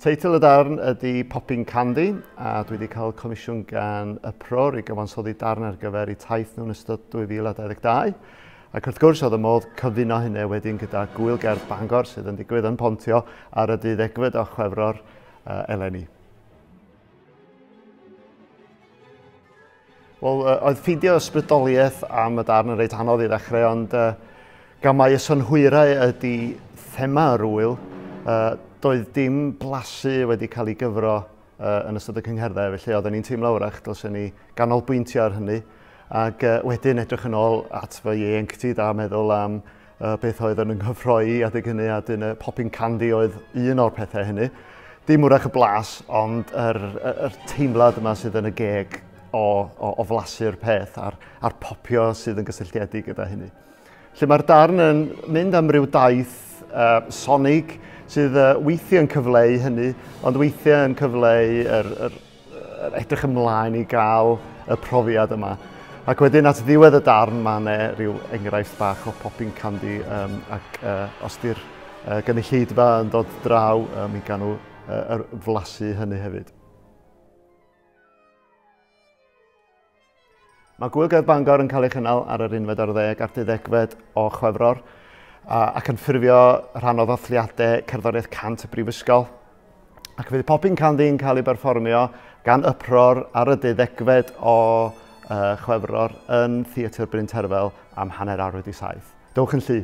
Teitl y darn ydy Popping Candy, a dwi wedi cael comisiwn gan Uproar i gyfansoddi darn ar gyfer eu taith nhw'n ystod 2022. Ac wrth gwrs oedd y modd cyfuno hynny wedyn gyda Gŵyl Gerdd Bangor sydd yn digwydd yn Pontio ar y 12fed o Chwefror eleni. Wel, oedd ffeindio ysbrydoliaeth am y darn yn reit anodd i ddechrau, ond gan mai y synhwyrau ydy thema yr ŵyl, doedd dim blasu wedi cael ei gyfro yn ystod y cyngherddau, felly oedden ni'n teimlo wrach dylsen ni ganolbwyntio ar hynny, ac wedyn edrych yn ôl at fy ieuenctid a meddwl am beth oedd yn nghyffroi adeg hynny, a dyn y popping candy oedd un o'r pethau hynny. Dim wrach y blas, ond yr teimlad yma sydd yn y geg o flasu'r peth a'r popio sydd yn gysylltiedig gyda hynny. Lle mae'r darn yn mynd am ryw daith sonig sydd weithiau yn cyfleu hynny, ond weithiau yn cyfleu yr edrych ymlaen i gael y profiad yma. Ac wedyn at ddiwedd y darn mae yna rhyw enghraifft bach o popping candy, ac os di'r gynulleidfa yn dod draw, mi gawn nhw flasu hynny hefyd. Mae Gŵyl Gerdd Bangor yn cael ei chynnal ar yr 11 a'r 12fed o Chwefror ac yn ffurfio rhan o ddathliadau cerddoriaeth 100 y Brifysgol. Ac fydd Popping Candy yn cael ei berfformio gan Uproar ar y 12fed o Chwefror yn Theatr Bryn Terfel am 7:30. Dowch yn llu!